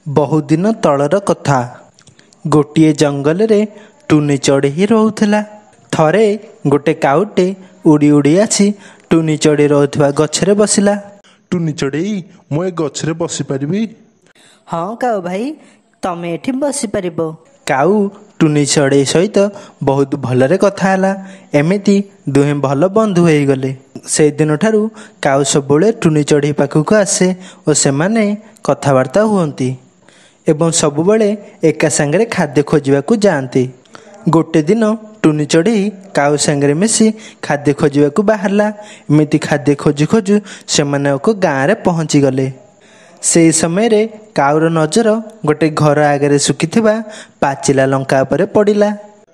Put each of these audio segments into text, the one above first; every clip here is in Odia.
ବହୁଦିନ ତଳର କଥା। ଗୋଟିଏ ଜଙ୍ଗଲରେ ଟୁନି ଚଢ଼େଇ ରହୁଥିଲା। ଥରେ ଗୋଟେ କାଉଟେ ଉଡ଼ି ଉଡ଼ି ଆସି ଟୁନି ଚଢ଼େଇ ରହୁଥିବା ଗଛରେ ବସିଲା। ଟୁନି ଚଢ଼େଇ, ମୁଁ ଏ ଗଛରେ ବସିପାରିବି? ହଁ କାଉ ଭାଇ, ତମେ ଏଠି ବସିପାରିବ। କାଉ ଟୁନି ଚଢ଼େଇ ସହିତ ବହୁତ ଭଲରେ କଥା ହେଲା। ଏମିତି ଦୁହେଁ ଭଲ ବନ୍ଧୁ ହେଇଗଲେ। ସେଇଦିନଠାରୁ କାଉ ସବୁବେଳେ ଟୁନି ଚଢ଼େଇ ପାଖକୁ ଆସେ ଓ ସେମାନେ କଥାବାର୍ତ୍ତା ହୁଅନ୍ତି ଏବଂ ସବୁବେଳେ ଏକା ସାଙ୍ଗରେ ଖାଦ୍ୟ ଖୋଜିବାକୁ ଯାଆନ୍ତି। ଗୋଟେ ଦିନ ଟୁନି ଚଢ଼େଇ କାଉ ସାଙ୍ଗରେ ମିଶି ଖାଦ୍ୟ ଖୋଜିବାକୁ ବାହାରିଲା। ଏମିତି ଖାଦ୍ୟ ଖୋଜୁ ଖୋଜୁ ସେମାନେ ଏକ ଗାଁରେ ପହଞ୍ଚିଗଲେ। ସେହି ସମୟରେ କାଉର ନଜର ଗୋଟେ ଘର ଆଗରେ ଶୁଖିଥିବା ପାଚିଲା ଲଙ୍କା ଉପରେ ପଡ଼ିଲା।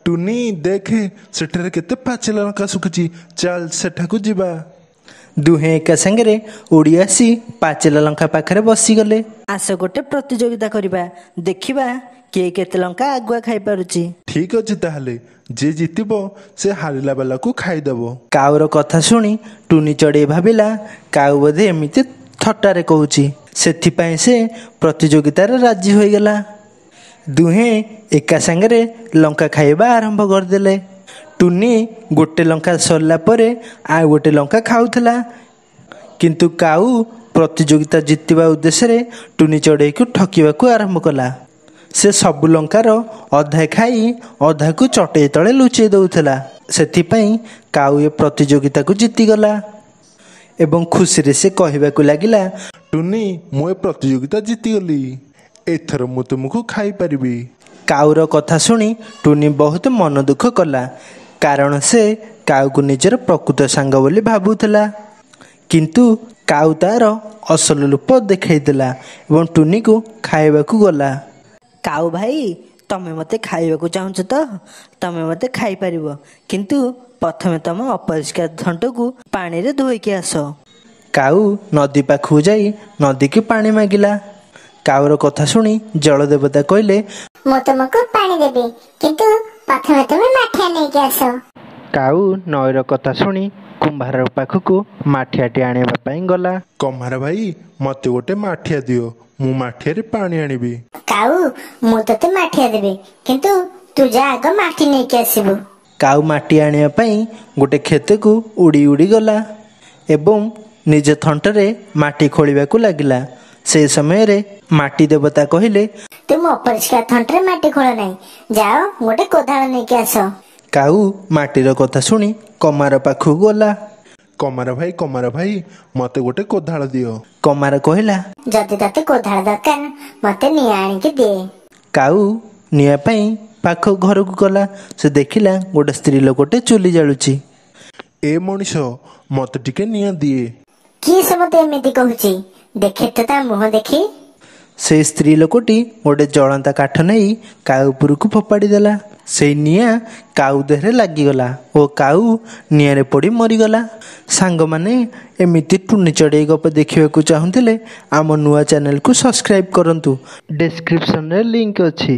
ଟୁନି, ଦେଖେ, ସେଠାରେ କେତେ ପାଚିଲା ଲଙ୍କା ଶୁଖିଛି। ଚାଲ, ସେଠାକୁ ଯିବା। ଦୁହେଁ ଏକା ସାଙ୍ଗରେ ଉଡ଼ି ଆସି ପାଚିଲା ଲଙ୍କା ପାଖରେ ବସିଗଲେ। ଆସ, ଗୋଟେ ପ୍ରତିଯୋଗିତା କରିବା, ଦେଖିବା କିଏ କେତେ ଲଙ୍କା ଆଗୁଆ ଖାଇପାରୁଛି। ଠିକ ଅଛି ତାହେଲେ, ଯିଏ ଜିତିବ ସେ ହାରିଲା ବାଲାକୁ ଖାଇଦବ। କାଉର କଥା ଶୁଣି ଟୁନି ଚଢ଼େଇ ଭାବିଲା କାଉ ବୋଧେ ଏମିତି ଥଟ୍ଟାରେ କହୁଛି। ସେଥିପାଇଁ ସେ ପ୍ରତିଯୋଗିତାରେ ରାଜି ହୋଇଗଲା। ଦୁହେଁ ଏକା ସାଙ୍ଗରେ ଲଙ୍କା ଖାଇବା ଆରମ୍ଭ କରିଦେଲେ। ଟୁନି ଗୋଟେ ଲଙ୍କା ସରିଲା ପରେ ଆଉ ଗୋଟେ ଲଙ୍କା ଖାଉଥିଲା। କିନ୍ତୁ କାଉ ପ୍ରତିଯୋଗିତା ଜିତିବା ଉଦ୍ଦେଶ୍ୟରେ ଟୁନି ଚଢ଼େଇକୁ ଠକିବାକୁ ଆରମ୍ଭ କଲା। ସେ ସବୁ ଲଙ୍କାର ଅଧା ଖାଇ ଅଧାକୁ ଚଟେଇ ତଳେ ଲୁଚେଇ ଦେଉଥିଲା। ସେଥିପାଇଁ କାଉ ଏ ପ୍ରତିଯୋଗିତାକୁ ଜିତିଗଲା ଏବଂ ଖୁସିରେ ସେ କହିବାକୁ ଲାଗିଲା, ଟୁନି, ମୁଁ ଏ ପ୍ରତିଯୋଗିତା ଜିତିଗଲି, ଏଥର ମୁଁ ତୁମକୁ ଖାଇପାରିବି। କାଉର କଥା ଶୁଣି ଟୁନି ବହୁତ ମନ ଦୁଃଖ କଲା, କାରଣ ସେ କାଉକୁ ନିଜର ପ୍ରକୃତ ସାଙ୍ଗ ବୋଲି ଭାବୁଥିଲା। କିନ୍ତୁ କାଉ ତାର ଅସଲ ରୂପ ଦେଖାଇଦେଲା ଏବଂ ଟୁନିକୁ ଖାଇବାକୁ ଗଲା। କାଉ ଭାଇ, ତମେ ମୋତେ ଖାଇବାକୁ ଚାହୁଁଛ ତ? ତମେ ମୋତେ ଖାଇପାରିବ, କିନ୍ତୁ ପ୍ରଥମେ ତମ ଅପରିଷ୍କାର ଥଣ୍ଟକୁ ପାଣିରେ ଧୋଇକି ଆସ। କାଉ ନଦୀ ପାଖକୁ ଯାଇ ନଦୀକି ପାଣି ମାଗିଲା। କାଉର କଥା ଶୁଣି ଜଳଦେବତା କହିଲେ, ମୁଁ ତୁମକୁ ପାଣି ଦେବି, କିନ୍ତୁ ପ୍ରଥମେ ତୁମେ ମାଠିଆ ନେଇକି ଆସ। କାଉ ନଈର କଥା ଶୁଣି କୁମ୍ଭାର ପାଖକୁ ମାଠିଆଟି ଆଣିବା ପାଇଁ ଗଲା। କମ୍ଭାର ଭାଇ, ମତେ ଗୋଟେ ମାଠିଆ ଦିଅ, ମୁଁ ମାଠିଆରେ ପାଣି ଆଣିବି। କାଉ, ମୁଁ ତତେ ମାଠିଆ ଦେବି, କିନ୍ତୁ ତୁ ଯା, ଆଗ ମାଟି ନେଇକି ଆସିବୁ। କାଉ ମାଟି ଆଣିବା ପାଇଁ ଗୋଟେ କ୍ଷେତକୁ ଉଡ଼ି ଉଡ଼ି ଗଲା ଏବଂ ନିଜ ଥଣ୍ଟରେ ମାଟି ଖୋଳିବାକୁ ଲାଗିଲା। ସେ ସମୟରେ ମାଟି ଦେବତା କହିଲେ, ତୁମ ଅପରିଷ୍କାର ଥଣ୍ଟରେ ମାଟି ଖୋଳ ନାହିଁ, ଯାଅ ଗୋଟେ କୋଦାଳ ନେଇକି ଆସ। କାଉ ମାଟିର କଥା ଶୁଣି କମାର ପାଖକୁ ଗଲା। କମାର ଭାଇ, କମାର ଭାଇ, ମତେ ଗୋଟେ କୋଦାଳ ଦିଅ। କମାର କହିଲା, ଯଦି ତତେ କୋଦାଳ ଦରକାର, ମତେ ନିଆଁ ଆଣିକି ଦେ। କାଉ ନିଆଁ ପାଇଁ ପାଖ ଘରକୁ ଗଲା। ସେ ଦେଖିଲା ଗୋଟେ ସ୍ତ୍ରୀ ଲୋକଟେ ଚୁଲି ଜାଳୁଛି। ଏ ମଣିଷ, ମତେ ଟିକେ ନିଆଁ ଦିଏ। କିଏ ସେ ମତେ ଏମିତି କହୁଛି? ଦେଖେ ତ ତା ମୁହଁ ଦେଖି। ସେଇ ସ୍ତ୍ରୀ ଲୋକଟି ଗୋଟେ ଜଳନ୍ତା କାଠ ନେଇ କାଉ ଉପରକୁ ଫୋପାଡ଼ି ଦେଲା। ସେଇ ନିଆଁ କାଉ ଦେହରେ ଲାଗିଗଲା ଓ କାଉ ନିଆଁରେ ପଡ଼ି ମରିଗଲା। ସାଙ୍ଗମାନେ, ଏମିତି ଟୁନି ଚଢ଼େଇ ଗପ ଦେଖିବାକୁ ଚାହୁଁଥିଲେ ଆମ ନୂଆ ଚ୍ୟାନେଲକୁ ସବସ୍କ୍ରାଇବ୍ କରନ୍ତୁ। ଡେସ୍କ୍ରିପସନରେ ଲିଙ୍କ ଅଛି।